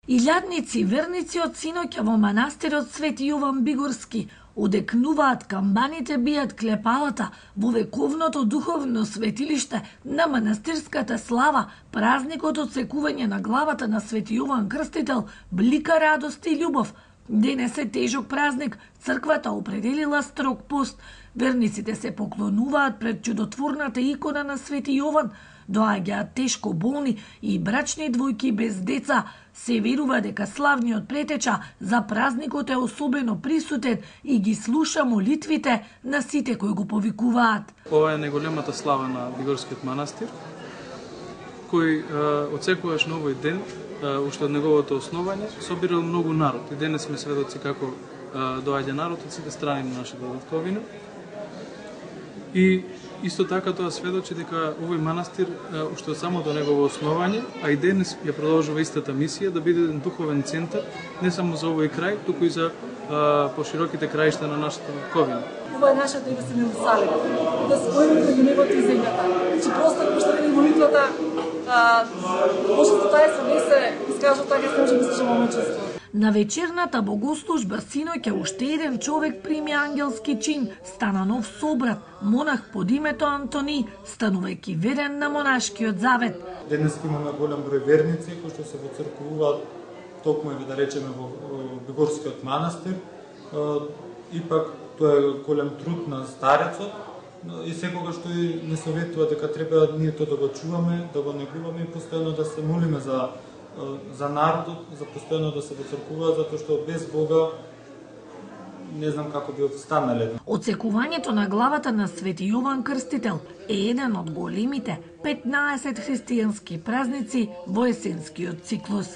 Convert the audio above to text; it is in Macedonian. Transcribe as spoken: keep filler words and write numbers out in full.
Илјадници верници од синоќа во манастирот Свети Јован Бигорски одекнуваат камбаните бијат клепалата во вековното духовно светилиште на манастирската слава. Празникот од секување на главата на Свети Јован Крстител блика радост и љубов. Денес е тежок празник, црквата определила строг пост. Верниците се поклонуваат пред чудотворната икона на Свети Јован. Доаѓаат тешко болни и брачни двојки без деца. Се верува дека славниот претеча за празникот е особено присутен и ги слуша молитвите на сите кои го повикуваат. Ова е најголемата слава на Бигорскиот манастир, кој од секогаш на овој ден, уште од неговото основање, собирал многу народ. И денес сме сведоци како доаѓа народ од сите страни на нашата татковина. И исто така тоа сведочи дека овој манастир уште од самото негово основање, а и денес ја продолжува истата мисија да биде еден духовен центар не само за овој крај, туку и за пошироките краишта на нашата татковина. Ова е нашата Иерусалим, да споиме меѓу небото и земјата. Значи просто што вели молитвата, може да таа се не се искажува така, се може да се момчество. На вечерната богослужба синоќа уште еден човек прими ангелски чин, стана нов собрат, монах под името Антони, станувајќи верен на монашкиот завет. Денес имаме голем број верници кои што се воцркувуваат токму да речеме во Бигорскиот манастир. Ипак тоа е голем труд на старецот и секогаш тој не советува дека треба ние тоа да го чуваме, да го негуваме и постојано да се молиме за за народот, за постојано да се воцркуваат, затоа што без Бога не знам како би останале. Отсекувањето на главата на Свети Јован Крстител е еден од големите петнаесет христијански празници во есенскиот циклус.